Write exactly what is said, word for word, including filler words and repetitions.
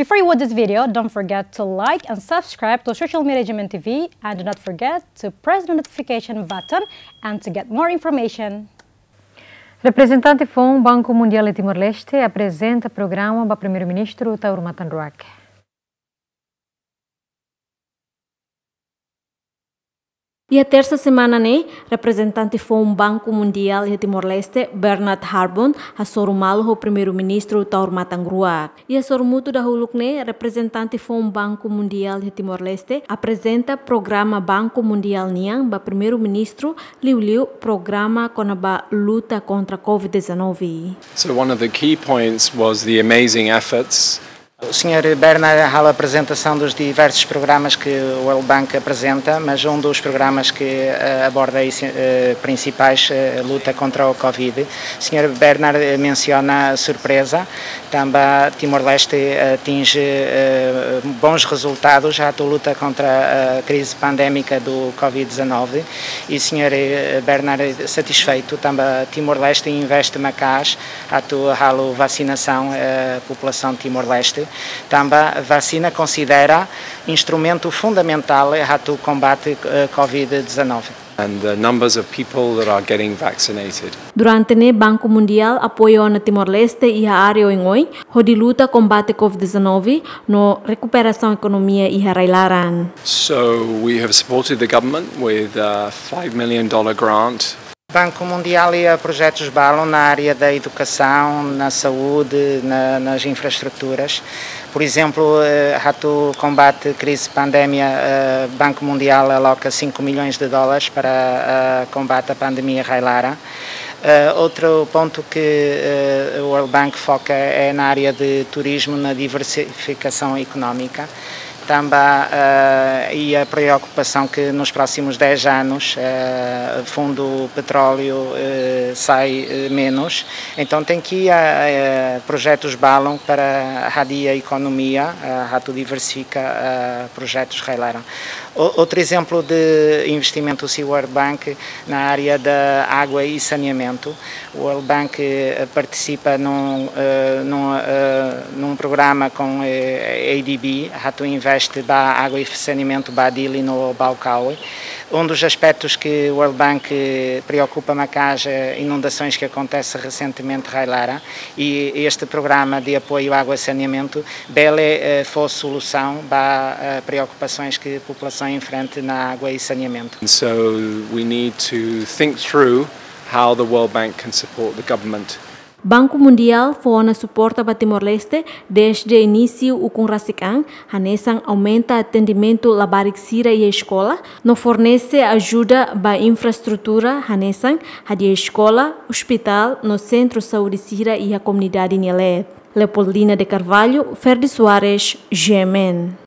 Before you watch this video, don't forget to like and subscribe to social media G M N T V, and do not forget to press the notification button and to get more information. Reprezentante foun Banku Mundiál iha Timor-Leste aprezenta programa ba Primeiru-Ministru Taur Matan Ruak. Iha tersa semana ne'e, reprezentante foun Banku Mundiál iha Timor-Leste, Bernard Harbon, hasoru malu ho Primeiru-Ministru Taur Matan Ruak. Iha sorumutu dahuluk ne'e, reprezentante foun Banku Mundiál iha Timor-Leste aprezenta programa Banku Mundiál nian ba Primeiru-Ministru, liuliu programa kona-ba luta kontra covid dezanove. So one of the key points was the amazing efforts. O senhor Bernard halo a apresentação dos diversos programas que o World Bank apresenta, mas um dos programas que, eh, aborda aí, eh, principais, eh, luta contra o covid. O senhor Bernard, eh, menciona a surpresa. Tanba Timor-Leste, eh, atinge, eh, bons resultados atu luta contra a crise pandémica do covid dezanove. E o senhor, eh, Bernard é satisfeito. Tanba Timor-Leste investe maka'as atu halo vacinação, eh, população Timor-Leste. Tanba vacina considera instrumento fundamental atu combate, eh, covid dezanove. And the numbers of people that are getting vaccinated. Durante ne'e Banku Mundiál apoiu ona Timor-Leste iha área oioin, hodi luta kombate covid dezanove no rekuperasaun ekonomia iha rai-laran. So we have supported the government with a five million dollar grant. Banku Mundiál iha projetus balun na área da educação, na saúde, na, nas infraestruturas. Por exemplo, eh, atu kombate crise pandemia, eh, Banku Mundiál aloka cinco milhões de dólares para, eh, combate à pandemia rai-laran. Eh, outro ponto que, eh, o World Bank foca é na área de turismo, na diversificação económica. Tanba, eh, e a preocupação que nos próximos dez anos, eh, fundo petróleo, eh, sai, eh, menos. Então tem que, eh, eh, projetus balun para hadi'a ekonomia, eh, atu diversifika, eh, projetus rai-laran. O-, outro exemplo de investimento husi World Bank na área da água e saneamento. O World Bank, eh, participa num, eh, num, eh, num programa com, eh, A D B, atu investe ba água e saneamento ba Dili no Baucau. Um dos aspectos que o World Bank, eh, preocupa maka'as, eh, inundações que acontece recentemente rai-laran, e este programa de apoio à água e saneamento bele, eh, fó solusaun ba, eh, preocupações que a população enfrenta na água e saneamento. And so we need to think through how the World Bank can support the government. Banku Mundiál fó ona suporta ba Timor-Leste dezde inísiu ukun rasik an, hanesan aumenta atendimentu labarik sira iha eskola, no fornese ajuda ba infraestrutura, hanesan hadi'a eskola, ospitál no sentru saúde sira iha komunidade nia leet. Leopoldina de Carvalho, Ferdi Soares, G M N.